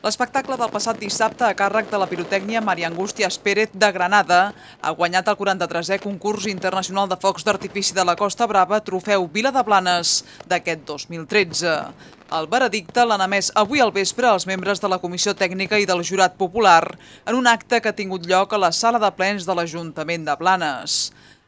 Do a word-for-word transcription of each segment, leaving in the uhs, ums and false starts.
L'espectacle del passat dissabte a càrrec de la pirotècnia Maria Angústies Pérez de Granada ha guanyat el quaranta-tresè concurs internacional de focs d'artifici de la Costa Brava Trofeu Vila de Blanes d'aquest dos mil tretze. El veredicte l'han emès avui al vespre els membres de la Comissió Tècnica i del Jurat Popular en un acte que ha tingut lloc a la sala de plens de l'Ajuntament de Blanes.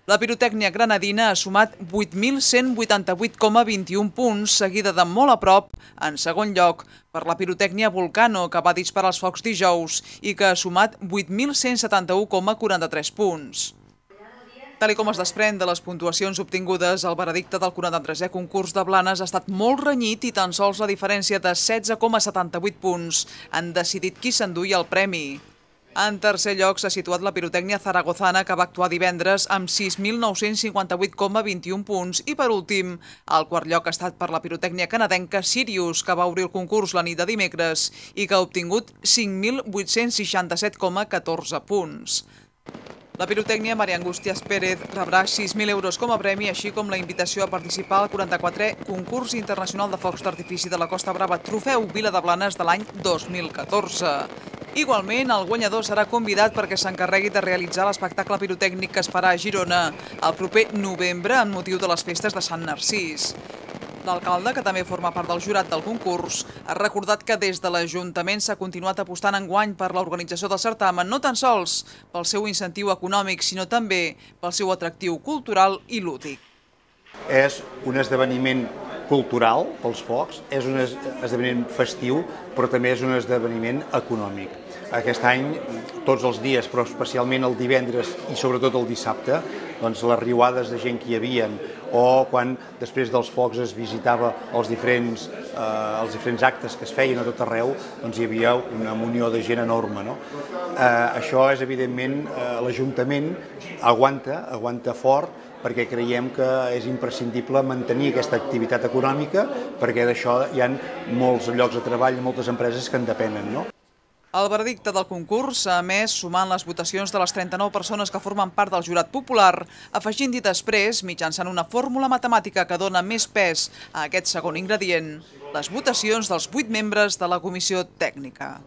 La pirotècnia granadina ha sumat vuit mil cent vuitanta-vuit coma vint-i-un punts, seguida de molt a prop, en segon lloc, per la pirotècnia Volcano, que va disparar els focs dijous i que ha sumat vuit mil cent setanta-u coma quaranta-tres punts. Tal com es desprèn de les puntuacions obtingudes, el veredicte del quaranta-tresè concurs de Blanes ha estat molt renyit i tan sols la diferència de setze coma setanta-vuit punts han decidit qui s'enduia el premi. En tercer lloc s'ha situat la pirotècnia zaragozana, que va actuar divendres amb sis mil nou-cents cinquanta-vuit coma vint-i-un punts, i per últim, el quart lloc ha estat per la pirotècnia canadenca Sirius, que va obrir el concurs la nit de dimecres i que ha obtingut cinc mil vuit-cents seixanta-set coma catorze punts. La pirotècnia Maria Angústies Pérez rebrà sis mil euros com a premi, així com la invitació a participar al quaranta-quatrè concurs internacional de focs d'artifici de la Costa Brava Trofeu Vila de Blanes de l'any dos mil catorze. Igualment, el guanyador serà convidat perquè s'encarregui de realitzar l'espectacle pirotècnic que es farà a Girona el proper novembre amb motiu de les festes de Sant Narcís. L'alcalde, que també forma part del jurat del concurs, ha recordat que des de l'Ajuntament s'ha continuat apostant enguany per l'organització del certamen, no tan sols pel seu incentiu econòmic, sinó també pel seu atractiu cultural i lúdic. És un esdeveniment cultural pels focs, és un esdeveniment festiu, però també és un esdeveniment econòmic. Aquest any, tots els dies, però especialment el divendres i sobretot el dissabte, doncs les riuades de gent que hi havia, o quan després dels focs es visitava els diferents, eh, els diferents actes que es feien a tot arreu, doncs hi havia una munió de gent enorme. No? Eh, això és, evidentment, eh, l'Ajuntament aguanta, aguanta fort, perquè creiem que és imprescindible mantenir aquesta activitat econòmica, perquè d'això hi ha molts llocs de treball i moltes empreses que en depenen. No? El veredicte del concurs s'ha emès sumant les votacions de les trenta-nou persones que formen part del jurat popular, afegint-hi després, mitjançant una fórmula matemàtica que dona més pes a aquest segon ingredient, les votacions dels vuit membres de la comissió tècnica.